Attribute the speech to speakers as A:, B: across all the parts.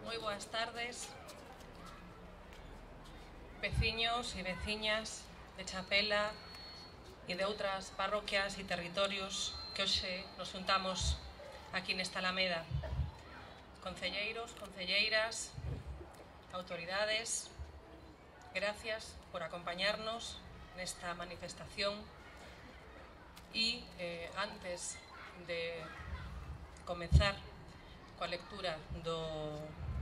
A: Moi boas tardes, veciños e veciñas de Chapela e de outras parroquias e territorios que hoxe nos juntamos aquí nesta Alameda. Concelleiros, concelleiras, autoridades, gracias por acompañarnos nesta manifestación e antes de comezar coa lectura do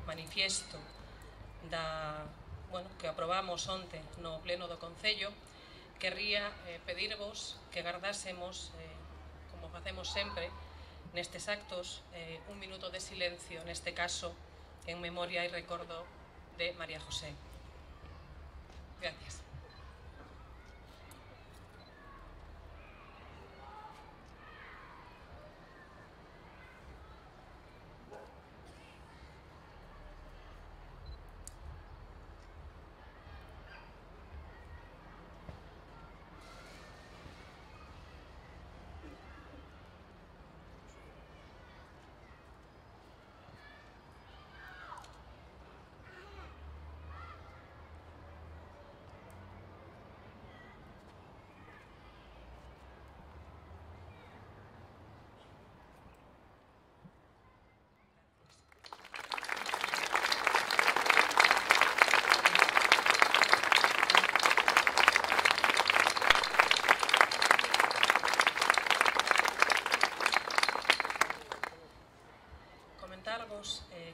A: manifiesto que aprobamos onte no pleno do Concello, querría pedirvos que gardásemos, como facemos sempre nestes actos, un minuto de silencio, neste caso en memoria e recordo de María José. Gracias.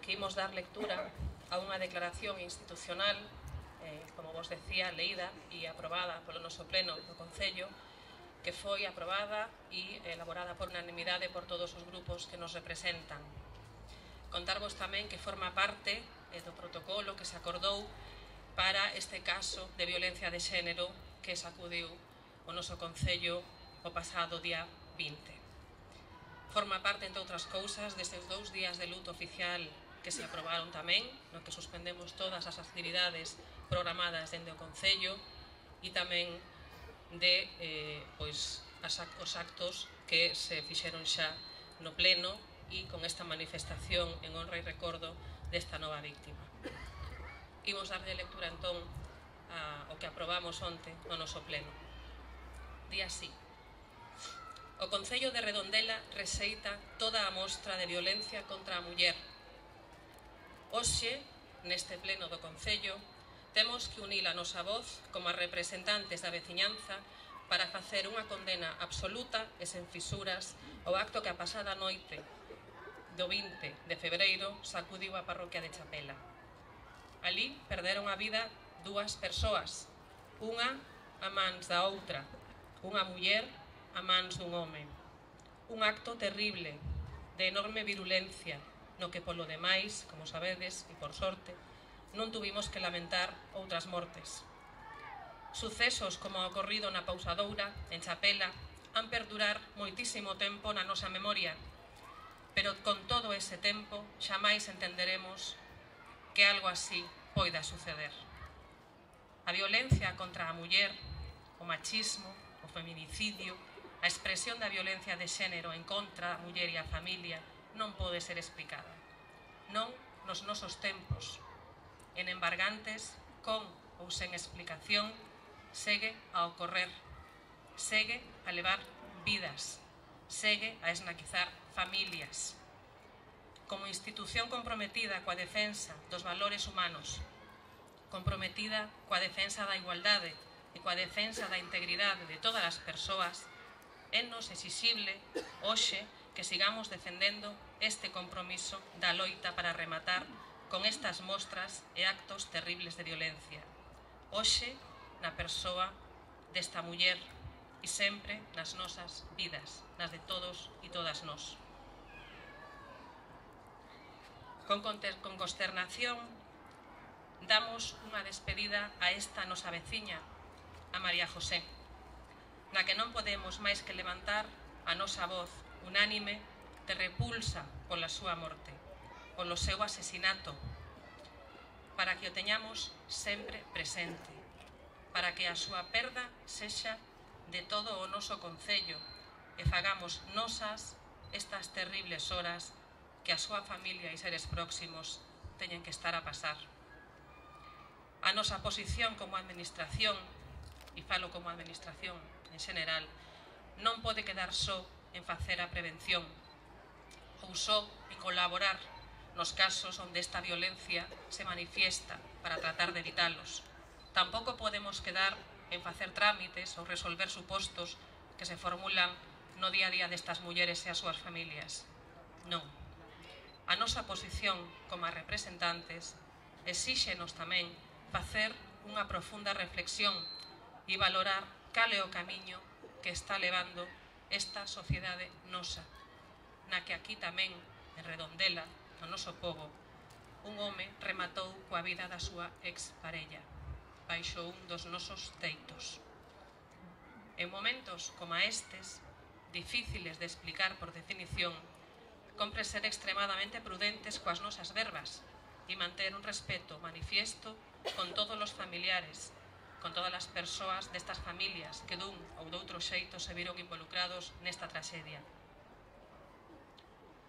A: Que imos dar lectura a unha declaración institucional, como vos decía, leída e aprobada polo noso pleno do Concello, que foi aprobada e elaborada por unanimidade por todos os grupos que nos representan. Contarvos tamén que forma parte do protocolo que se acordou para este caso de violencia de xénero que sacudiu o noso Concello o pasado día 20. Forma parte, entre outras cousas, destes 2 días de luto oficial que se aprobaron tamén, no que suspendemos todas as actividades programadas dende o Concello e tamén de os actos que se fixeron xa no pleno e con esta manifestación en honra e recordo desta nova víctima. Imos darlle lectura entón ao que aprobamos onte no noso pleno. Día así. O Concello de Redondela rexeita toda a mostra de violencia contra a muller. Hoxe, neste pleno do Concello, temos que unir a nosa voz como a representantes da veciñanza para facer unha condena absoluta e sen fisuras ao acto que a pasada noite do 20 de febreiro sacudiu a parroquia de Chapela. Alí perderon a vida 2 persoas, unha a mans da outra, unha muller a mans dun home. Un acto terrible, de enorme virulencia, no que polo demais, como sabedes, e por sorte, non tuvimos que lamentar outras mortes. Sucesos como o ocorrido na Pousadoura, en Chapela, han perdurar moitísimo tempo na nosa memoria, pero con todo ese tempo xamais entenderemos que algo así poida suceder. A violencia contra a muller, o machismo, o feminicidio, a expresión da violencia de xénero en contra a muller e a familia non pode ser explicada. Non nos nosos tempos, en embargantes, con ou sen explicación, segue a ocorrer, segue a levar vidas, segue a esnaquizar familias. Como institución comprometida coa defensa dos valores humanos, comprometida coa defensa da igualdade e coa defensa da integridade de todas as persoas, é-nos exixible hoxe que sigamos defendendo este compromiso da loita para rematar con estas mostras e actos terribles de violencia. Hoxe, na persoa desta muller e sempre nas nosas vidas, nas de todos e todas nós. Con consternación, damos unha despedida a esta nosa veciña, a María José, na que non podemos máis que levantar a nosa voz unánime de repulsa pola súa morte, polo seu asesinato, para que o teñamos sempre presente, para que a súa perda sexa de todo o noso Concello e fagamos nosas estas terribles horas que a súa familia e seres próximos teñen que estar a pasar. A nosa posición como administración, e falo como administración en xeral, non pode quedar só en facer a prevención ou só en colaborar nos casos onde esta violencia se manifiesta para tratar de evitalos. Tampouco podemos quedar en facer trámites ou resolver supostos que se formulan no día a día destas mulleres e as súas familias. Non. A nosa posición como representantes exíxenos tamén facer unha profunda reflexión e valorar cal é o camiño que está levando esta sociedade nosa, na que aquí tamén, en Redondela, no noso pobo, un home rematou coa vida da súa exparella, baixo un dos nosos teitos. En momentos como estes, difíciles de explicar por definición, compre ser extremadamente prudentes coas nosas verbas e manter un respeto manifiesto con todos os familiares, con todas as persoas destas familias que dun ou doutro xeito se viron involucrados nesta traxedia.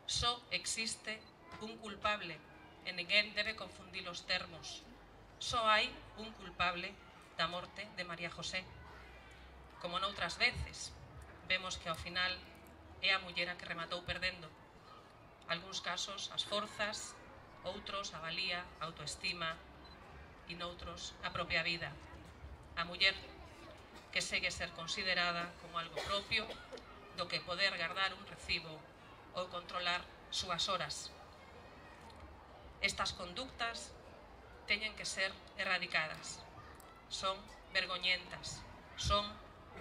A: Só existe un culpable e ninguén debe confundir os termos. Só hai un culpable da morte de María José. Como noutras veces, vemos que ao final é a muller a que rematou perdendo. Algúns casos as forzas, outros a valía, a autoestima e noutros a propia vida. A muller que segue ser considerada como algo propio do que poder guardar un recibo ou controlar súas horas. Estas conductas teñen que ser erradicadas. Son vergoñentas, son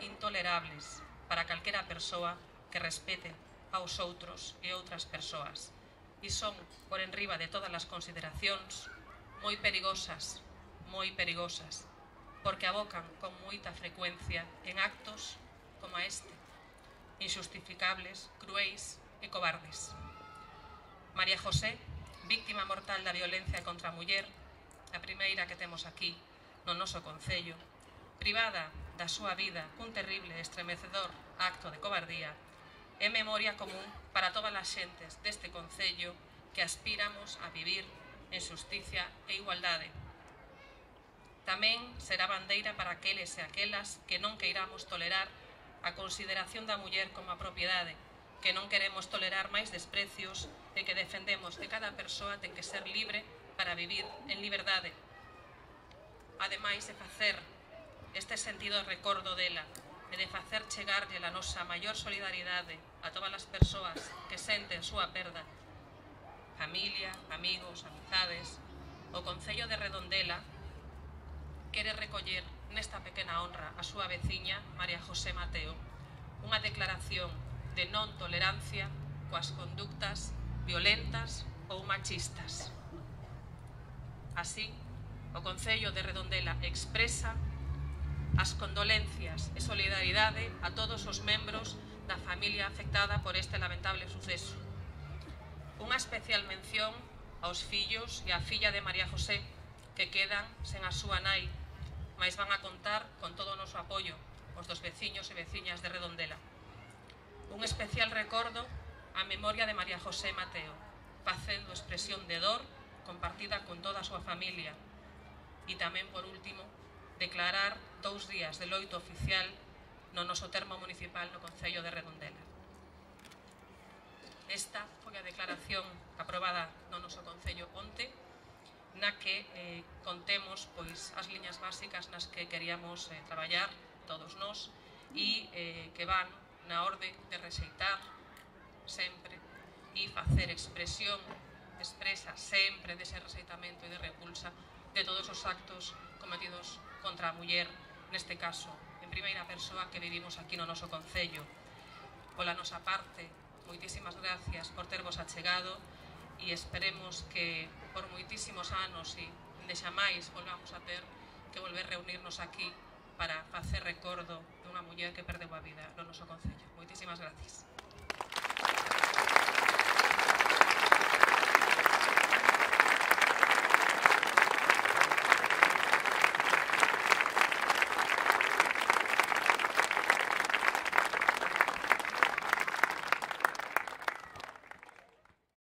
A: intolerables para calquera persoa que respete aos outros e outras persoas. E son, por enriba de todas as consideracións, moi perigosas, porque abocan con moita frecuencia en actos como este, injustificables, cruéis e cobardes. María José, víctima mortal da violencia contra a muller, a primeira que temos aquí no noso concello, privada da súa vida cun terrible e estremecedor acto de cobardía, é memoria común para todas as xentes deste concello que aspiramos a vivir en xusticia e igualdade. Tamén será bandeira para aqueles e aquelas que non queiramos tolerar a consideración da muller como a propiedade, que non queremos tolerar máis desprecios e que defendemos que cada persoa ten que ser libre para vivir en liberdade. Ademais de facer este sentido de recordo dela e de facer chegarlle a nosa maior solidaridade a todas as persoas que senten súa perda, familia, amigos, amizades, o Concello de Redondela quere recoller nesta pequena honra a súa veciña María José Mateo unha declaración de non tolerancia coas conductas violentas ou machistas. Así, o Concello de Redondela expresa as condolencias e solidaridade a todos os membros da familia afectada por este lamentable suceso. Unha especial mención aos fillos e á filla de María José que quedan sen a súa nai, mais van a contar con todo o noso apoio, os dos veciños e veciñas de Redondela. Un especial recordo á memoria de María José Mateo, facendo expresión de dor compartida con toda a súa familia. E tamén, por último, declarar 2 días de loito oficial no noso termo municipal no Concello de Redondela. Esta foi a declaración aprobada no noso Concello onte, na que contemos as liñas básicas nas que queríamos traballar todos nós e que van na orde de rexeitar sempre e facer expresión expresa sempre dese rexeitamento e de repulsa de todos os actos cometidos contra a muller, neste caso, en primeira persoa que vivimos aquí no noso Concello. Pola nosa parte, moitísimas gracias por tervos achegado e esperemos que por moitísimos anos e de xamais volvamos a ter que volver reunirnos aquí para facer recordo dunha muller que perdeu a vida no noso Concello. Moitísimas gracias.